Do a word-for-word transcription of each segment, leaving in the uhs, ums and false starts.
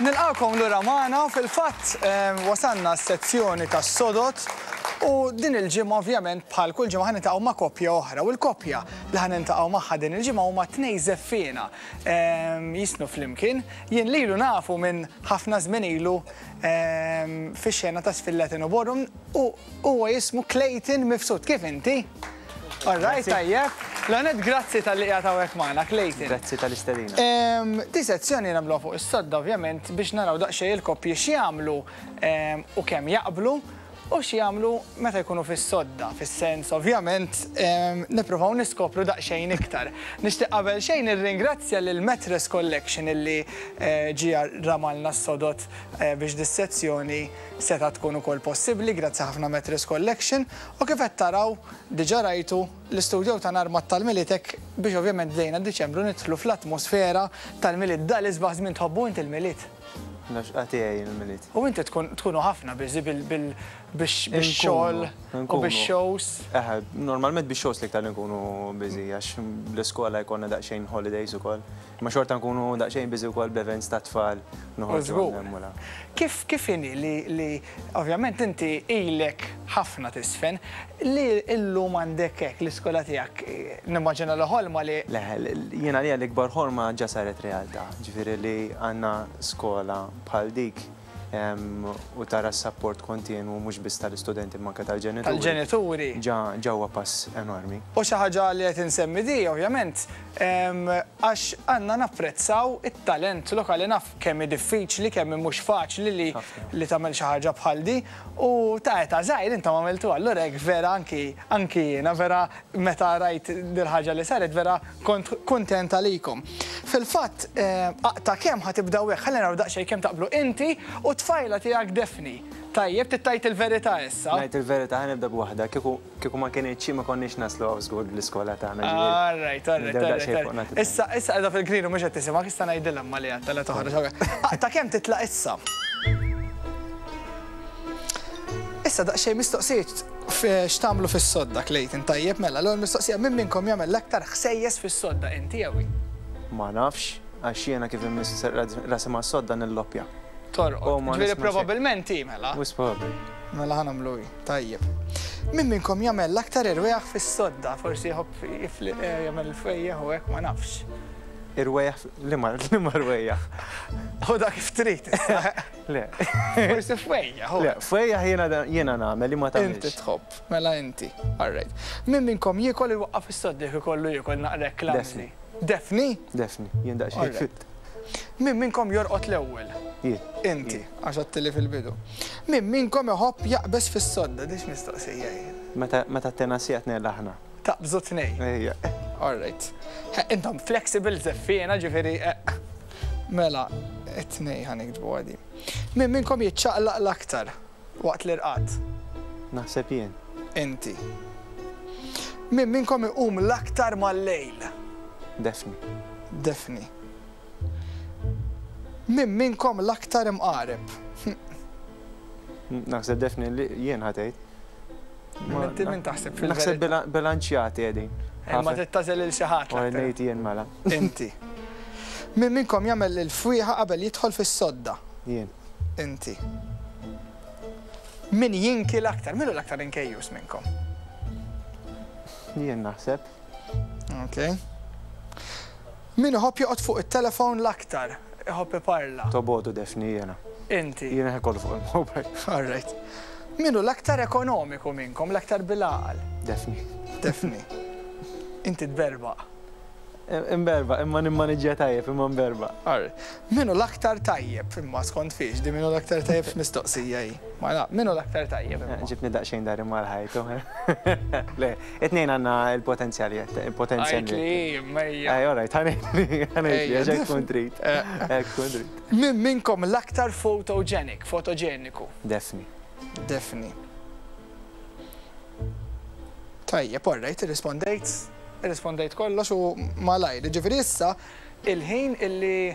Nilqakom lura magħna u fil-fatt eh, wasalna s-sezzjoni tas-sodod u din il-ġimgħa, ovvjament, bħal kull ġimgħa, ħa niltaqgħu ma' koppja oħra u l-koppja li ħa niltaqgħu magħha din il-ġimgħa huma tnejn żeffiena eh, jiżfnu flimkien. Jien lilu nafu minn ħafna żmien ilu eh, fix-xena ta' żfin Latin u Ballroom u huwa jismu Clayton Mifsud. Kif inti? All right, tajjeb. L-għanet grazzi talli qiegħed hawnhekk magħna, Clayton. Grazzi tal-istedina. Em, Di sezzjoni nagħmluha fuq is-sodda, ovvjament, biex naraw daqsxejn il-koppji x'jagħmlu em, u kemm jaqblu u x'jagħmlu meta jkunu fis-sodda, fis-sens ovvjament em, nippruvaw niskopru daqsxejn iktar. Nixtieq qabel xejn nirringrazzja lil Mattress Collection illi eh, ġie ramalna s-sodod eh, biex dis-sezzjoni seta' tkun ukoll possibbli, grazzi ħafna, Mattress Collection, u kif qed taraw, diġà rajtu l-istudio ta' armat tal-Milied biex ovvjament bdejna Diċembru, nidħlu fl-atmosfera tal-Milied, dal isbaħ żmien. Tħobbu inti il-Milied? L-għaxqa tiegħi il-Milied. U inti tkun tkunu ħafna busy bix-xogħol u bix-shows. Eħe, normalment bix-shows l-iktar li nkunu busy, għax bl-iskola jkollna daqsxejn holidays ukoll. Ma xorta nkunu daqsxejn busy ukoll b'events ta' tfal. Noħorġu Żgur. hemm u la. Kif kif inhi li, li ovvjament inti ilek ħafna tiżfen, li illum għandek hekk l-iskola tiegħek, eh, nimmaġina li ħolma li Le, jiena li l-ikbar ħolma ġa saret realtà. Ġifieri li għandna skola bħal dik em, u tara s-support kontinu mhux biss tal-istudenti imma anke tal-ġenituri. Tal-ġenituri. Ġa ġewwa pass enormi. U xi ħaġa li qed insemmi di, ovvjament, em, għax għandna napprezzaw it-talent lokali. Naf kemm hi diffiċli, kemm hi mhux faċli li Ħafna. li tagħmel xi ħaġa bħal di u ta' età żgħir intom għamiltu, allura hekk vera anki anki jiena vera meta rajt dil-ħaġa li saret vera kont kuntent għalikom. Fil-fatt, eh, aqta' kemm ħa tibdew hekk, ħalli naraw daqsxejn kemm taqblu inti u tfajla tiegħek Daphne. Tajjeb, tittajt il-verità issa. Ngħid il-verità, ħa nibda b'waħda, kieku kieku ma kienx ma konniex naslu hawn żgur bl-iskola tagħna, ġifieri. All right, all right, Nibdew all daqsxejn right. fuq nagħti. Issa, issa qiegħda fil-green u mhux qed tisimgħek, issa ngħidilha ma li għadta la toħroġ. Aqta' kemm titlaq issa. Issa daqsxejn mistoqsijiet x'tagħmlu fis-sodda, Clayton, tajjeb? Mela, l-ewwel mistoqsija: min minnkom jagħmel l-aktar ħsejjes fis-sodda, inti jew hi? Ma nafx, għax jiena kif immiss rasi ma' sodda nilloppja. Torqod. Oh, ma Ġifieri nisma' xejn. probabbilment hi mela. Wisq probabbli. Mela ħa nagħmlu hi. Tajjeb. Min minnkom jagħmel l-aktar irwejjaħ fis-sodda? Forsi jħobb jifli eh, jagħmel fwejjaħ u hekk, ma nafx. Irwejjaħ, li ma li ma rwejjaħ? U dak kif trid issa. Le. Forsi fwejjaħ. Le, fwejjaħ jiena jiena nagħmel li ma Inti tagħmilx. tħobb, mela inti. All right. Min minnkom jiekol iwaqqaf is-sodda jekk ikollu jiekol naqra clumsy? Daphne? Daphne, jien daqsxejn All right. fit. Min minnkom jorqod l-ewwel? Jien. Inti, għax għedtli fil-bidu. Min minnkom iħobb jaqbeż fis-sodda? Dix mistoqsija hi. Meta meta t-tenasija tnejn aħna. Taqbżu tnejn. Ejja. All right. He, intom flexible żeffiena, ġifieri. eh, Mela, it-tnejn ħa niktbu għadi. Min minnkom jiċċaqlaq l-aktar waqt l-irqad? Naħseb jien. Inti. Min minnkom iqum l-aktar mal-lejl? Daphne. Daphne. Min minnkom l-aktar imqareb? Naħseb Daphne li jien ħa tgħid. Ma- Min min taħseb Naħseb fil-verità? bila- bilanċjati qegħdin. Ma tittażel il xi ħadd U l-aktar. ngħid jien mela. Inti. Min minnkom jagħmel il-fwieħa qabel jidħol fis-sodda? Jien. Inti. Min jinki l-aktar? Min hu l-aktar inkejjus minnkom? Jien naħseb. Ok. Min iħobb joqgħod fuq it-telefon l-aktar? Iħobb iparla. Tobodu Daphne jiena. Inti. Jiena ħekollu fuq il-mobile. All right. Min hu l-aktar ekonomiku minnkom, l-aktar bil-għaqal? Daphne. Daphne. Inti tberbaq. Imberba, imma nimmaniġġja tajjeb, imma mberba. All right. Min hu l-aktar tajjeb, imma skont fiex, di min hu l-aktar tajjeb mistoqsija hi. Ma na, min hu l-aktar tajjeb imma? Ġibni daqsxejn dari mal-ħajtu. Le, it-tnejn għandna il-potenzjali, il-potenzjal. Għajt li, mejja. Ej, all right, ħa ngħid li, ħa ngħid li, Ejja, għax hekk tkun trid. Eh. Hekk tkun trid. Min minnkom l-aktar photogenic, fotogeniku? Daphne. Daphne. Tajjeb, all right, irrispondejt, irrispondejt kollox u malajr. Ġifieri issa il-ħin illi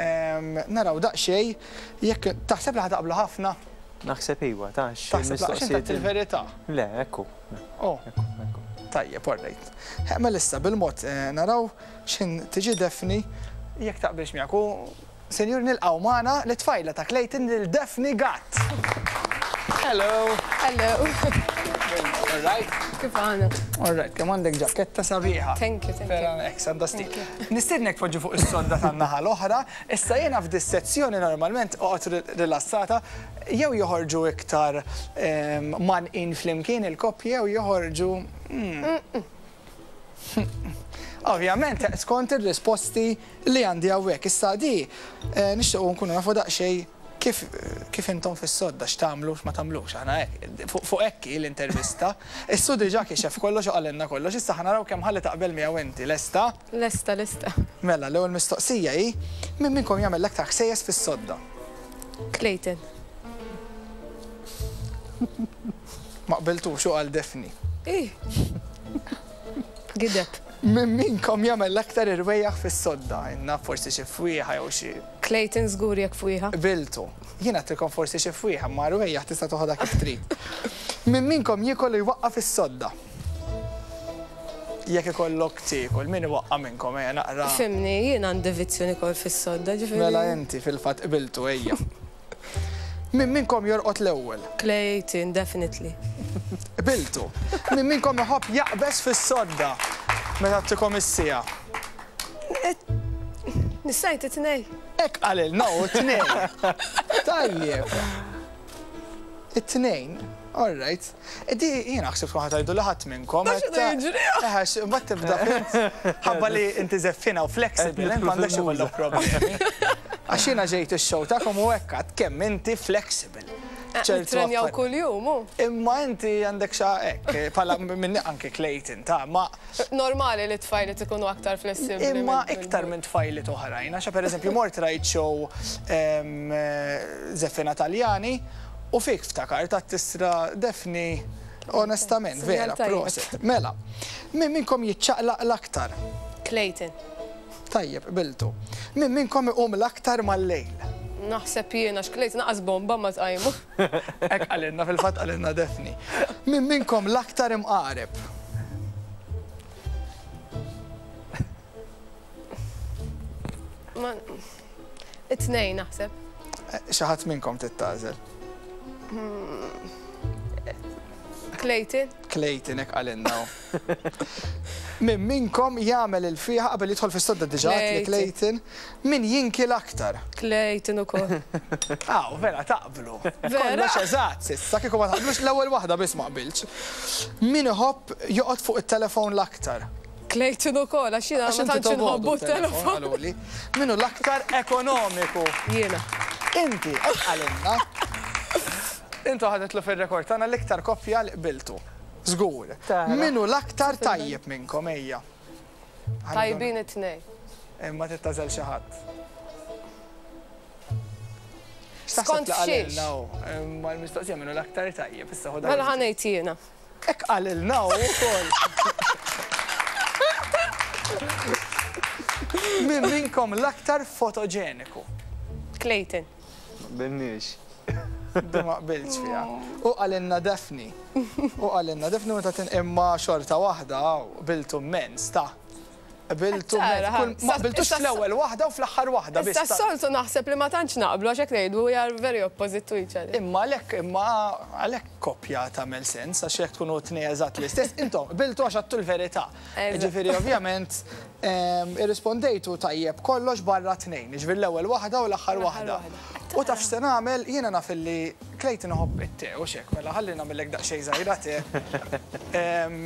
em, naraw daqsxejn jekk taħseb li ħa taqblu ħafna, Naħseb iwa, tax. taħseb li għax inti il-verità. Le, ekku. Oh, Ekku, ekku. tajjeb, all right. Mela issa bil-mod eh, naraw x'in tiġi Daphne jekk taqbilx miegħek u Sinjur, nilqgħu magħna l-tfajla ta' Clayton, lil Daphne Gatt. Hello. Hello. All right. Kif għana? All right, kemm għandek ġaketta sabiħa. Thank you, thank you. Vera, ek, għandha stil. Nistiednek poġġi fuq is-sodda tan-naħa l-oħra. Issa jiena f'dis-sezzjoni normalment oqgħod rilassata, jew joħorġu iktar manqin flimkien il-koppji jew joħorġu. mm. Ovvjament, skont ir-risposti li għandi hawnhekk. Issa di eh, nixtiequ nkunu nafu daqsxejn kif kif intom fis-sodda, x'tagħmlu, x'ma tagħmlux. Aħna hekk fuq hekk l-intervista. Issu diġà kixef kollox u qalilna kollox, issa ħa naraw kemm ħalli taqbel miegħu inti. Lesta? Lesta, lesta. Mela, l-ewwel mistoqsija hi: min minnkom jagħmel l-aktar ħsejjes fis-sodda? Clayton. Ma qbiltux, u qal Daphne. Ih. Gideb. Min minnkom jagħmel l-aktar irwejjaħ fis-sodda? Inna forsi xi fwieħa jew xi Clayton żgur jekk fwieħa. Qbiltu. Jiena għedtilkom forsi xi fwieħa, ma rwejjaħ tista' toħodha kif trid. Min minnkom jiekol u jwaqqa' fis-sodda? Jekk ikollok tiekol, min iwaqqa' minnkom, ejja naqra? Fimni, jien għandi vizzju nikol fis-sodda, ġifieri. Mela inti fil-fatt qbiltu, ejja. Min minnkom jorqod l-ewwel? Clayton, definitely. Qbiltu. Min minnkom iħobb jaqbeż fis-sodda meta ttikom is-siegħa? Nistajt it-tnej. Hekk qalilna hu, tnejn. Tajjeb. It-tnejn, all right. Di jiena ħsibt tkun ħa tgħidu li ħadd minnkom. Ma x'inhu jiġri? Eh, mbagħad tibda fint. Ħabba li inti żeffina u flexible, int m'għandekx ikollok problemi. Għax jiena ġejt ix-show tagħkom u hekk għad kemm inti flexible. ċertu Nitrenjaw affarijiet. kull-jum, u. Imma inti għandek xa hekk, bħala minn anke Clayton, ta' ma Normali li tfajliet ikunu aktar flessibli. Imma minn- iktar minn tfajliet oħrajn, għaxa per eżempju mort rajt show em, Zeffina Taljani u fik ftakar ta' tisra Daphne, onestament, vera, Sinjal tajjeb. prosit. Mela, min minnkom jiċċaqlaq l-aktar? Clayton. Tajjeb, qbiltu. Min minnkom iqum l-aktar mal-lejl? Naħseb jiena għax Clayton naqas bomba ma tqajmu. Hekk qalilna, fil-fatt qalilna Daphne. Min minnkom l-aktar imqareb? Ma it-tnejn naħseb. Eh, Xi ħadd minnkom tittażel. Clayton. Clayton, hekk qalilna. Min minnkom jagħmel il-fieħa qabel jidħol fis-sodda? Diġà li Clayton. Min jinki l-aktar? Clayton ukoll. Aw, vera taqblu. Vera? Kollox eżatt s'issa, kieku ma taqblux, l-ewwel waħda biss ma qbilx. Min iħobb joqgħod fuq it-telefon l-aktar? Clayton ukoll, għax jiena Għax ma inti tantx tobogħdu inħobbu t-telefon, t-telefon. qaluli. Min hu l-aktar ekonomiku? Jiena. Inti, hekk qalilna. Intu ħadetlu fil-rekord tagħna l-iktar koppja li qbiltu. Żgur. Tara. Min hu l-aktar tajjeb minnkom, ejja? Tajbin it-tnejn. Imma tittażel xi ħadd. Skont xiex? Imma l-mistoqsija min hu l-aktar tajjeb, issa ħodha. Mela ħa ngħid jiena. Hekk qalilna hu wkoll. Min minnkom l-aktar fotoġeniku? Clayton. Binnix. Du ma qbilx fiha. U qalilna Daphne. U qalilna Daphne meta tin imma xorta waħda qbiltu immens ta'. Qbiltu Tara, immens. Kull- Ma qbiltux issa- fl-ewwel waħda u fl-aħħar waħda biss. Issa s-soltu naħseb li ma tantx naqblu, għax hekk ngħidu we are very opposite to each other. Imma għalhekk imma għalhekk koppja tagħmel sens, għax jekk tkunu tnejn eżatt l-istess, intom qbiltu għax għattu l-verità. Eżatt. Ġifieri ovvjament em, irrispondejtu tajjeb kollox barra tnejn, ġifieri l-ewwel waħda u l-aħħar L-aħħar waħda. waħda. U taf x'se nagħmel, jiena naf illi Clayton iħobb it-te u xek, mela ħalli nagħmellek daqsxejn żgħira te. Em,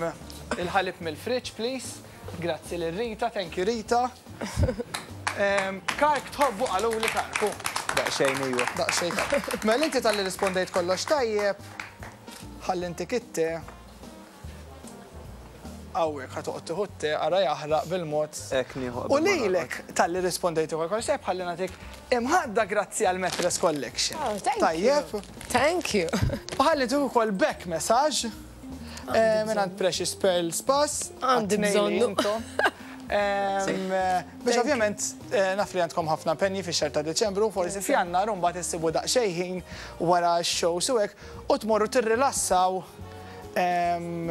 Il-ħalib mill-fridge, please. Grazzi lil Rita, thank you, Rita. Em, Kark tħobbu, qaluli kark, u. Daqsxejn iwa. Daqsxejn tajjeb. Mela inti talli rispondejt kollox tajjeb, ħalli inti kitte. Hawnhekk ħa toqgħod tieħu te, ara jaħraq bil-mod. Hekk nieħu U qabel ma lilek talli rispondejt ukoll kollox tajjeb, ħalli nagħtik imħadda grazzi għal Mattress Collection. Oh, thank you. Tajjeb. Thank you. U ħalli tieħu ukoll back massage eh, minn għand Precious Pearl Spas. Għandi għat-tnejn li bżonnu. intom. Em, eh, Biex ovvjament eh, naf li għandkom ħafna penji fix xahar ta' Deċembru, forsi f'Jannar mbagħad issibu daqsxejn ħin wara x-show u hekk u tmorru tirrilassaw Em,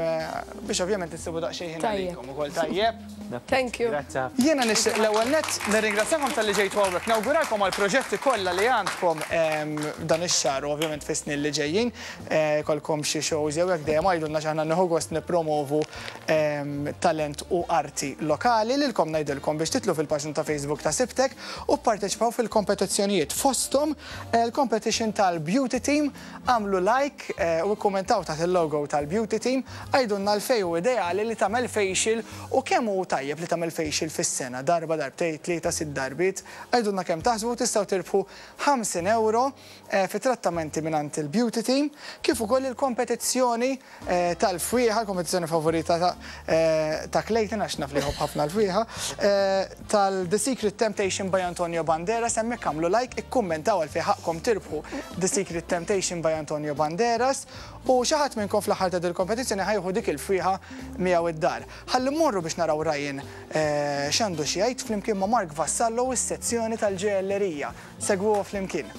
biex ovvjament issibu daqsxejn ħin Tajjeb. għalikom ukoll, tajjeb. Thank you. Grazzi ħafna. Jiena nixtieq l-ewwel nett nirringrazzjakom talli ġejtu hawnhekk. Nawguralkom għal proġetti kollha li għandkom em, dan ix-xahar u ovvjament fis-snin li ġejjin. Eh, Kolkom xi shows jew hekk, dejjem għidulna, x'aħna nieħu gost nippromovu em, talent u arti lokali. Lilkom ngħidilkom biex titilgħu fil-paġna ta' Facebook ta' Sibtek u pparteċipaw fil-kompetizzjonijiet. Fosthom eh, il-competition tal-Beauty Team, għamlu like eh, u kommentaw taħt il-logo tal-Beauty Team, għidulna għalfejn hu ideali li tagħmel facial u kemm hu tajjeb li tagħmel facial fis-sena, darba, darbtejn, tlieta, sitt darbiet. Għidulna kemm taħsbu, tistgħu tirbħu ħamsin euro eh, fi trattamenti mingħand il-Beauty Team, kif ukoll il-kompetizzjoni eh, tal-fwieħa, l-kompetizzjoni favorita ta' eh, ta' Clayton, għax naf li jħobb ħafna l-fwieħa, eh, tal-The Secret Temptation by Antonio Banderas. Hemmhekk għamlu like, ikkummentaw għalfejn ħaqqkom tirbħu The Secret Temptation by Antonio Banderas u xi ħadd minnkom fl-aħħar ta' dil-kompetizzjoni ħa jieħu dik il-fwieħa miegħu id-dar. Ħalli mmorru biex naraw Ryan eh, x'għandu xi jgħid flimkien ma' Mark Vassallo u s-sezzjoni tal-ġojellerija. Segwu flimkien.